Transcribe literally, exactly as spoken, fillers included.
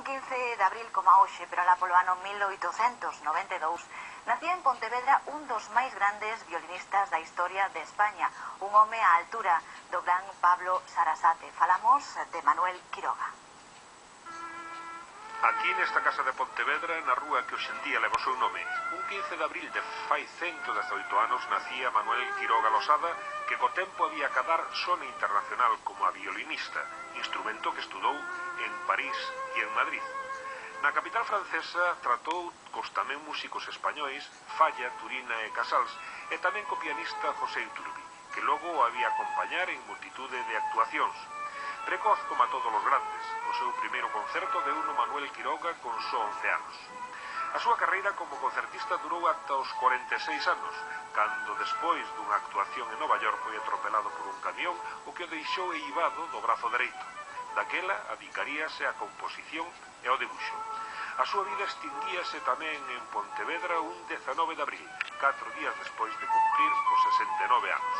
quince de abril como a hoxe, pero alá polo ano mil oitocentos noventa e dous, nacía en Pontevedra un dos máis grandes violinistas da historia de España, un home á altura do gran Pablo Sarasate. Falamos de Manuel Quiroga. Aquí nesta casa de Pontevedra, na rúa que hoxendía leva o seu nome, un quince de abril de fai cento dezaoito anos nacía Manuel Quiroga Losada, que co tempo había acadar sona internacional como a violinista, instrumento que estudou en París e en Madrid. Na capital francesa tratou cos tamén músicos españois Falla, Turina e Casals, e tamén co pianista José Iturbi, que logo o había acompañar en multitude de actuacións. Precoz como a todos os grandes, o seu primeiro concerto deuno Manuel Quiroga con só once anos. A súa carreira como concertista durou ata os cuarenta e seis anos, cando despois dunha actuación en Nova York foi atropelado por un camión, o que o deixou eivado do brazo dereito. Daquela adicaríase á composición e ao debuxo. A súa vida extinguíase tamén en Pontevedra un dezanove de abril, catro días despois de cumprir os sesenta e nove anos.